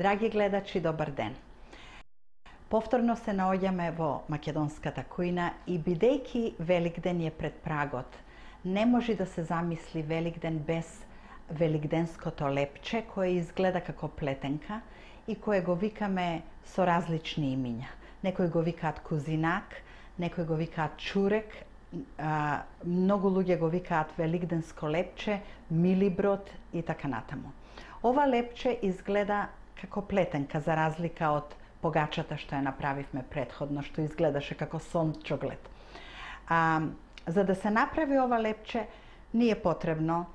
Драги гледачи, добар ден. Повторно се наоѓаме во македонската кујна и бидејќи Великден е пред прагот, не може да се замисли Великден без великденското лепче кое изгледа како плетенка и кое го викаме со различни имиња. Некои го викаат кузинак, некои го викаат чурек, многу луѓе го викаат великденско лепче, милиброд и така натаму. Ова лепче изгледа како плетенка за разлика од погачата што ја направивме претходно, што изгледаше како сончоглед. За да се направи ова лепче, ни е потребно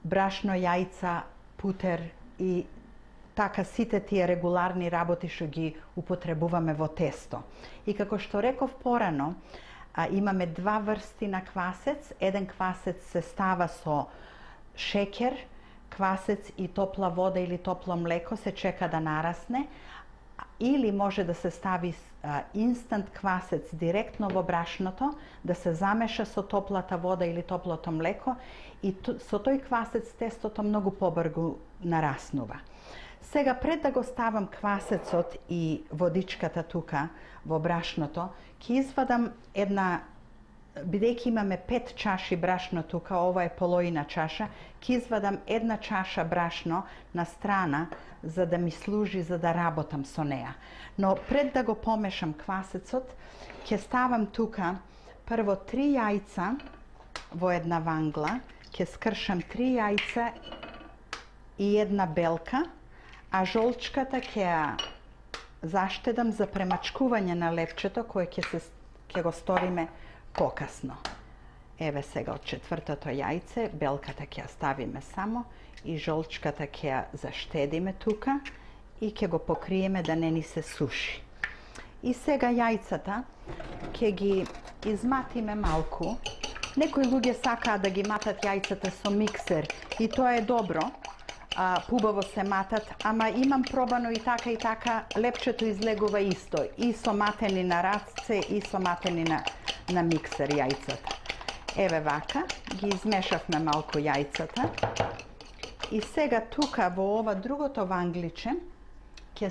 брашно, јајца, путер и така сите тие регуларни работи што ги употребуваме во тесто. И како што реков порано, имаме два врсти на квасец. Еден квасец се става со шеќер, квасец и топла вода или топло млеко, се чека да нарасне, или може да се стави инстант квасец директно во брашното, да се замеша со топлата вода или топлото млеко и со тој квасец тестото многу побрзо нараснува. Сега, пред да го ставам квасецот и водичката тука во брашното, ќе извадам една, бидејќи имаме 5 чаши брашно тука, ова е половина чаша, ќе извадам една чаша брашно на страна за да ми служи за да работам со неа. Но пред да го помешам квасецот, ќе ставам тука прво 3 јајца во една вангла, ќе скршам 3 јајца и една белка, а жолчката ќе ја заштедам за премачкување на лепчето кое ќе го сториме покасно. Еве сега од четвртото јајце, белката ќе ја ставиме само и жолчката ќе ја заштедиме тука и ќе го покриеме да не ни се суши. И сега јајцата ќе ги изматиме малку. Некои луѓе сакаат да ги матат јајцата со миксер и тоа е добро, пубаво се матат, ама имам пробано и така, лепчето излегува исто, и со матени на рацце, и со матени на миксер јајцата. Еве вака, ги измешавме малку јајцата. И сега тука во ова другото вангличе ќе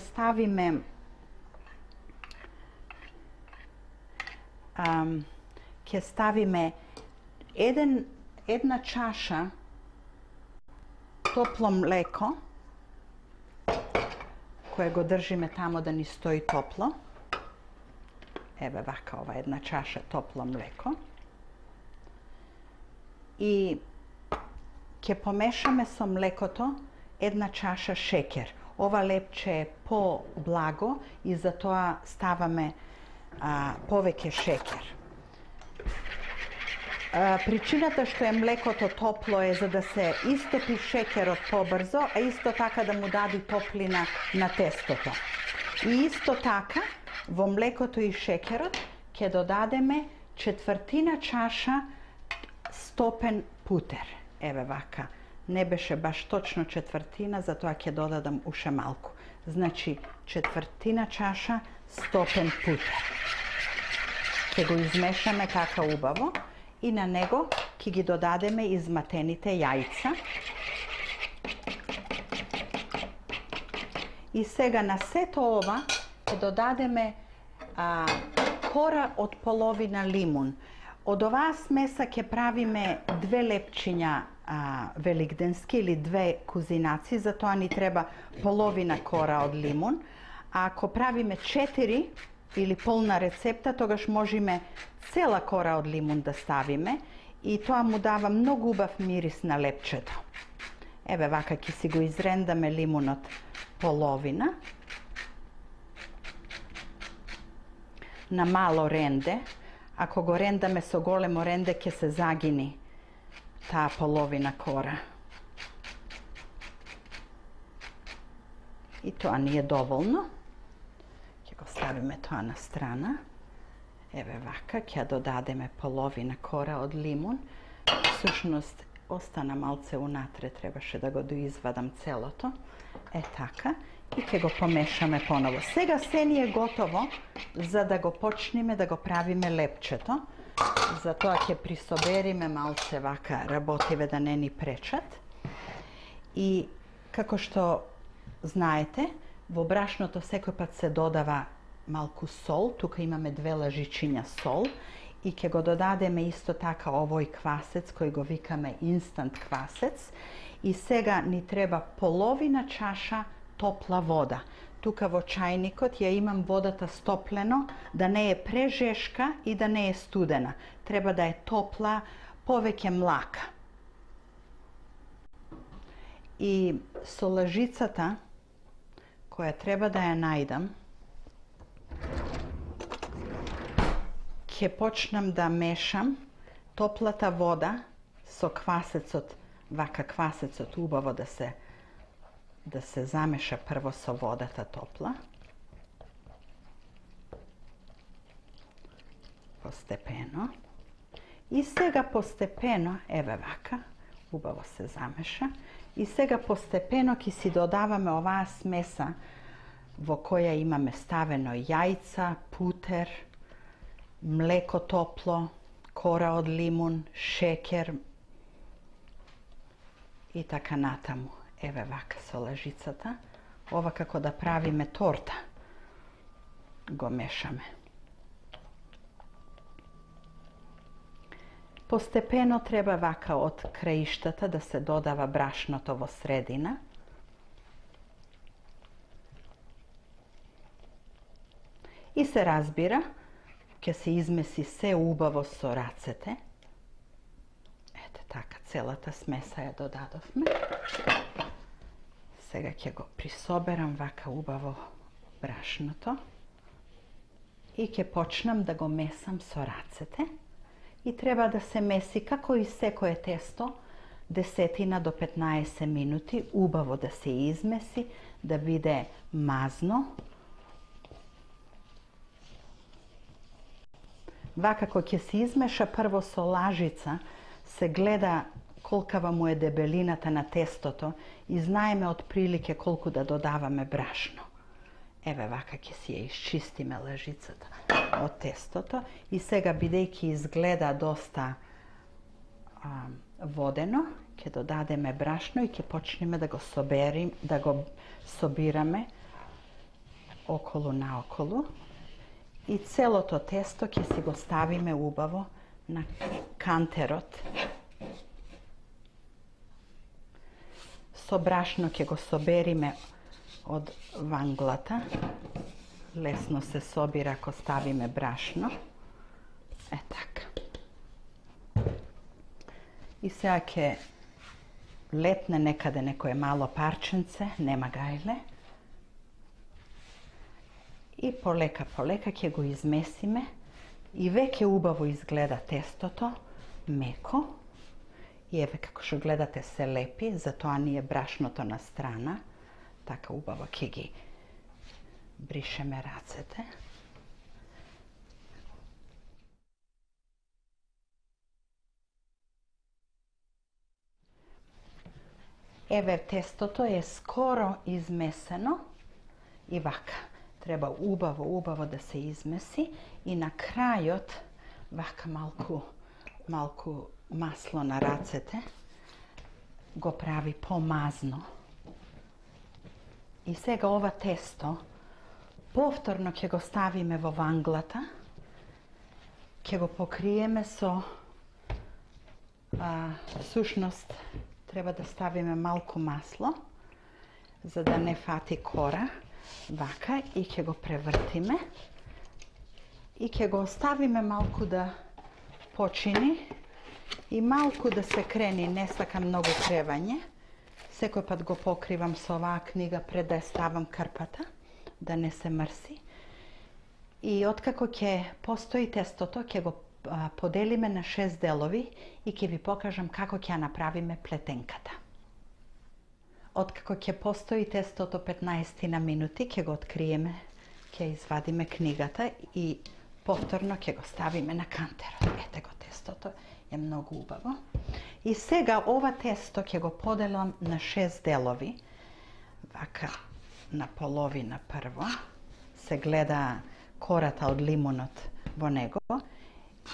ставиме една чаша топло млеко, кое го држиме тамо да ни стои топло. Еве вака, ова една чаша топло млеко. И ќе помешаме со млекото една чаша шеќер. Ова лепче е по-благо и затоа ставаме повеќе шеќер. Причината што е млекото топло е за да се истопи шеќерот побрзо, а исто така да му даде топлина на тестото. И исто така во млекото и шеќерот ќе додадеме четвртина чаша стопен путер. Еве вака, не беше баш точно четвртина, затоа ќе додадам уште малку. Значи, четвртина чаша стопен путер. Ќе го измешаме така убаво и на него ќе ги додадеме изматените јајца. И сега на сето ова ќе додадеме кора од половина лимун. Од оваа смеса ќе правиме 2 лепчиња великденски или 2 кузинаци, затоа ни треба половина кора од лимун. А ако правиме 4 или полна рецепта, тогаш можеме цела кора од лимун да ставиме и тоа му дава многу убав мирис на лепчето. Еве вака ќе си го изрендаме лимунот половина на мало ренде. Ако го рендаме со големо ренде, ќе се загини таа половина кора. И тоа ни е доволно. Ќе го ставиме тоа на страна. Еве вака, ќе додадеме половина кора од лимун. Всушност, остана малце унатре, требаше да го доизвадам целото. Е така. И ќе го помешаме поново. Сега се ни е готово за да го почнеме да го правиме лепчето. Затоа ќе присобериме малце вака работиве да не ни пречат. И како што знаете, Во брашното секој пат се додава малку сол, тука имаме 2 лажичиња сол и ќе го додадеме исто така овој квасец кој го викаме инстант квасец и сега ни треба половина чаша топла вода. Тука во чајникот ја имам водата стоплено, да не е прежешка и да не е студена. Треба да е топла, повеќе млака. И со лажицата која треба да ја најдам, ќе почнам да мешам топлата вода со квасецот, вака квасецот убаво да се замеша прво со водата топла. Постепено. И сега постепено, еве вака, убаво се замеша. И сега постепено ќе си додаваме оваа смеса во која имаме ставено јајца, путер, млеко топло, кора од лимун, шекер и така натаму. Еве вака со лажицата. Ова како да правиме торта. Го мешаме. Постепено треба вака од краиштата да се додава брашното во средина. И се разбира, ќе се измеси се убаво со рацете. Ете така, целата смеса ја додадовме. Сега ќе го присоберам вака убаво брашното и ќе почнам да го месам со рацете. И треба да се меси како и секое тесто 10 до 15 минути, убаво да се измеси, да биде мазно. Вака кога ќе се измеша прво со лажица, се гледа колкава му е дебелината на тестото и знаеме отприлике колку да додаваме брашно. Еве вака ќе си ја исчистиме лажицата од тестото и сега бидејќи изгледа доста водено, ќе додадеме брашно и ќе почнеме да го собираме околу наоколу и целото тесто ќе си го ставиме убаво на кантерот. Со брашно ќе го собериме од ванглата. Лесно се собира ако ставиме брашно. Е така. И сега ќе летне некаде некое мало парченце, нема гајле. И полека ќе го измесиме. И веќе убаво изгледа тестото, меко. И еве како што гледате се лепи, затоа ни е брашното на страна. Така убаво ќе ги бришеме рацете. Еве тестото е скоро измесено и вака. Треба убаво да се измеси и на крајот вака малку масло на рацете го прави помазно. И сега ова тесто повторно ќе го ставиме во ванглата, ќе го покриеме со сушност треба да ставиме малку масло за да не фати кора, вака, и ќе го превртиме и ќе го оставиме малку да почини и малку да се крени, не сакам многу кревање. Секој пат го покривам со оваа книга пред да ја ставам крпата, да не се мрси. И откако ќе постои тестото, ќе го поделиме на 6 делови и ќе ви покажам како ќе ја направиме плетенката. Откако ќе постои тестото 15 на минути, ќе го откриеме, ќе извадиме книгата и повторно ќе го ставиме на кантерот. Ете го тестото, е многу убаво. И сега ова тесто ќе го поделам на 6 делови. Вака на половина прво. Се гледа кората од лимунот во него.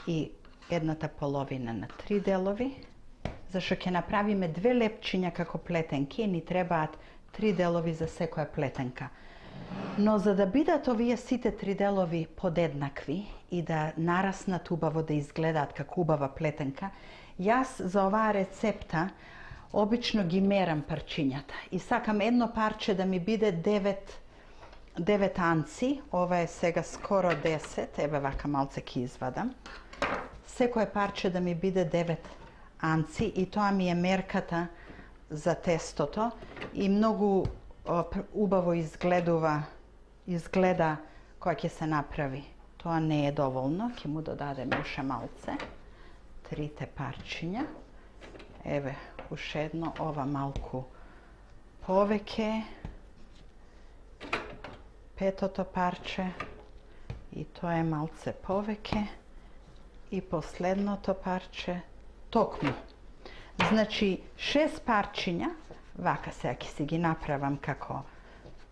И едната половина на 3 делови. Зашто ќе направиме 2 лепчиња како плетенки и ни требаат 3 делови за секоја плетенка. Но за да бидат овие сите три делови подеднакви и да нараснат убаво, да изгледаат како убава плетенка, јас за оваа рецепта обично ги мерам парчињата и сакам едно парче да ми биде 9 анци, ова е сега скоро 10, еве вака малце ќе извадам. Секое парче да ми биде 9 анци и тоа ми е мерката за тестото и многу убаво изгледа кога ќе се направи. Тоа не е доволно, ќе му додадеме уште малце. 3 парчиња. Еве, уште едно, ова малку повеќе. 5-то парче и тоа е малце повеќе. И последното парче токму. Значи 6 парчиња, вака сега ќе си ги направам како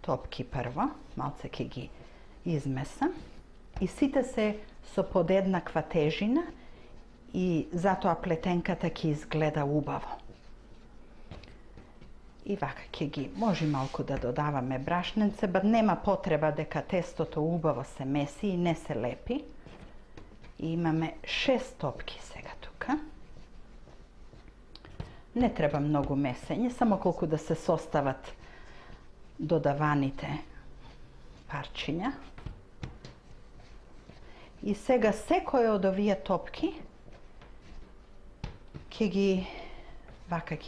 топки прво, малце ќе ги измесам и сите се со подеднаква тежина и затоа плетенката ќе изгледа убаво. И вака ќе ги, може малку да додаваме брашненце, ба нема потреба дека тестото убаво се меси и не се лепи. И имаме 6 топки сега тука. Не треба многу месење, само колку да се состават додаваните парчиња. И сега секој од овие топки ќе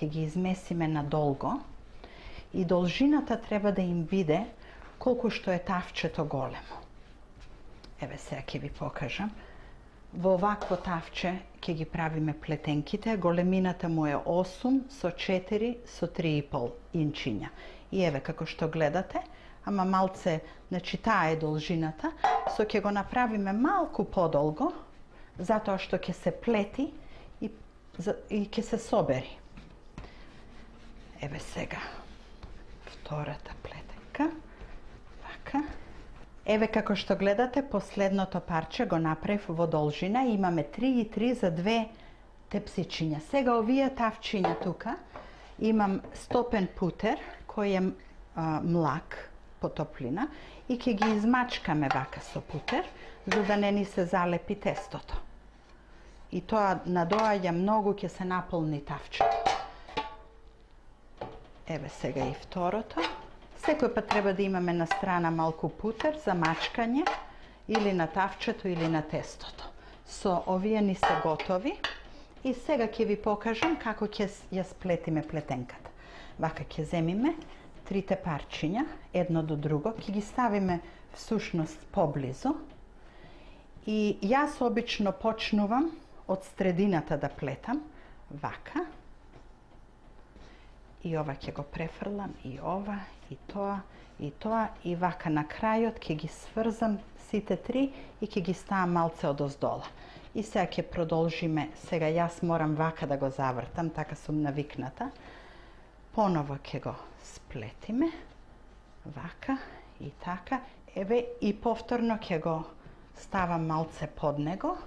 ги измесиме надолго и должината треба да им биде колку што е тавчето големо. Еве сега ќе ви покажам. Во овакво тавче ќе ги правиме плетенките, големината му е 8 со 4 со 3,5 инчиња. И еве како што гледате, ама малце, значи таа е должината, со ќе го направиме малку подолго, затоа што ќе се плети и ќе се собери. Еве сега втората плетенка, вака. Еве како што гледате, последното парче го направив во должина, имаме 3,3 за 2 тепсичиња. Сега овие тавчиња тука имам стопен путер кој е млак по топлина и ќе ги измачкаме вака со путер за да не ни се залепи тестото. И тоа надоаѓа многу, ќе се наполни тавчето. Еве сега и второто. Секој пат треба да имаме на страна малку путер за мачкање или на тавчето или на тестото. Со овие ни се готови и сега ќе ви покажам како ќе ја сплетиме плетенката. Вака ќе земиме 3 парчиња, едно до друго, ќе ги ставиме всушност поблизу и јас обично почнувам од средината да плетам, вака. И ова ќе го префрлам, и ова, и тоа, и вака на крајот ќе ги сврзам сите 3 и ќе ги ставам малце одоздола. И сега ќе продолжиме, сега јас морам вака да го завртам, така сум навикната. Поново ќе го сплетиме, вака и така. Еве и повторно ќе го ставам малце под него.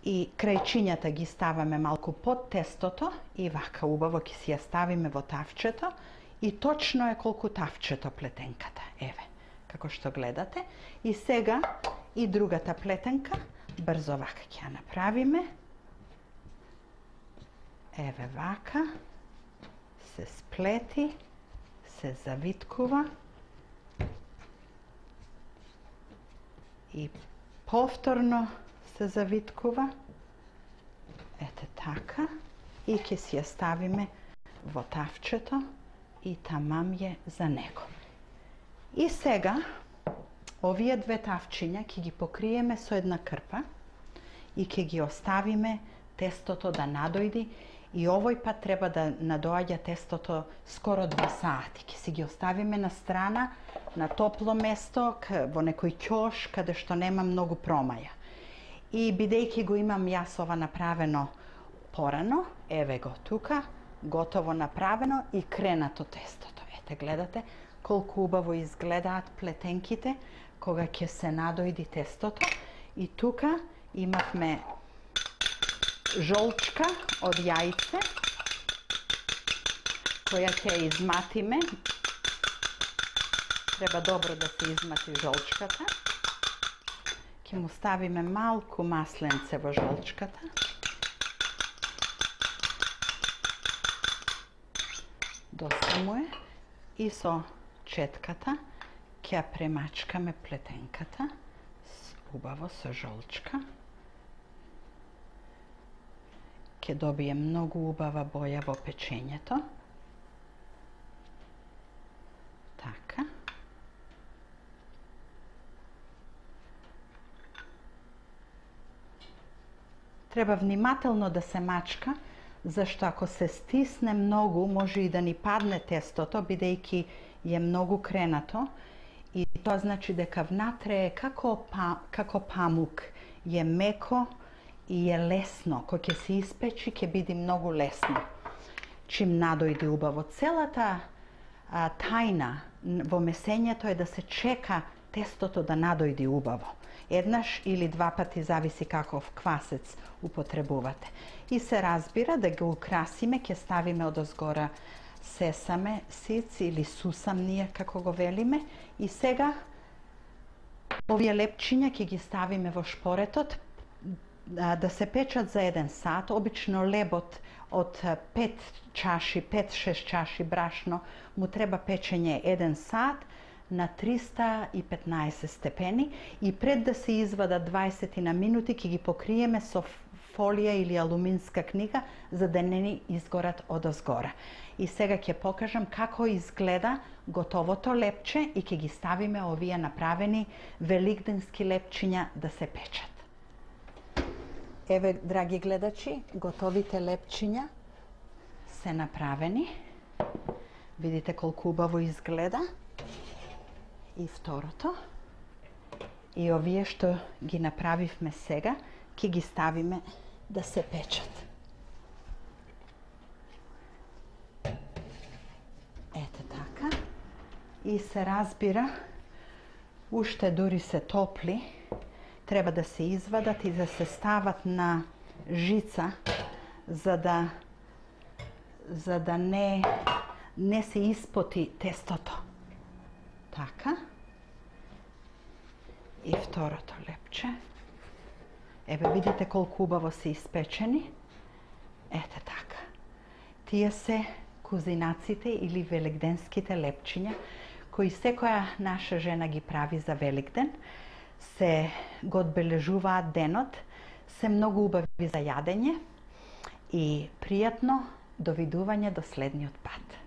И крајчињата ги ставаме малку под тестото и вака убаво ќе си ја ставиме во тавчето и точно е колку тавчето плетенката. Еве, како што гледате. И сега и другата плетенка, брзо вака ќе ја направиме. Еве вака, се сплети, се завиткува и повторно се завиткува. Ете така. И ќе си ја ставиме во тавчето и тамам е за него. И сега овие 2 тавчиња ќе ги покриеме со една крпа и ќе ги оставиме тестото да надојди и овој пат треба да надоаѓа тестото скоро 2 сати. Ќе си ги оставиме на страна, на топло место, во некој ќош, каде што нема многу промаја. И бидејќи го имам јас ова направено порано, еве го тука, готово направено и кренато тестото. Ете, гледате колку убаво изгледаат плетенките кога ќе се надојди тестото. И тука имавме жолчка од јајце, која ќе ја изматиме Треба добро да се измати жолчката. Ќе му ставиме малку масленце во жолчката. Доста му е. И со четката ќе ја премачкаме плетенката убаво со жолчка. Ќе добие многу убава боја во печењето. Така. Треба внимателно да се мачка, зашто ако се стисне многу, може и да ни падне тестото, бидејќи е многу кренато. И тоа значи дека внатре е како памук, е меко и е лесно. Кој ќе се испечи, ќе биде многу лесно. Чим надојде убаво. Целата тајна во месењето е да се чека тестото да надојде убаво. Еднаш или два пати, зависи каков квасец употребувате. И се разбира да го украсиме, ќе ставиме одозгора сесаме сиц или сусам ние како го велиме. И сега овие лепчиња ќе ги ставиме во шпоретот да се печат за 1 сат. Обично лебот од 5-6 чаши брашно му треба печење 1 сат на 315 степени и пред да се извада 20 на минути ќе ги покриеме со фолија или алуминска книга за да не ни изгорат одозгора. И сега ќе покажам како изгледа готовото лепче и ќе ги ставиме овие направени великденски лепчиња да се печат. Еве, драги гледачи, готовите лепчиња се направени. Видите колку убаво изгледа. И второто. И овие што ги направивме сега, ќе ги ставиме да се печат. Ете така. И се разбира, уште дури се топли, треба да се извадат и да се стават на жица, за да не се испоти тестото. Така. И второто лепче. Еве, видите колку убаво се испечени. Ете така. Тие се кузинаците или великденските лепчиња, кои секоја наша жена ги прави за Великден. Се го одбележуваат денот, се многу убави за јадење и пријатно довидување до следниот пат.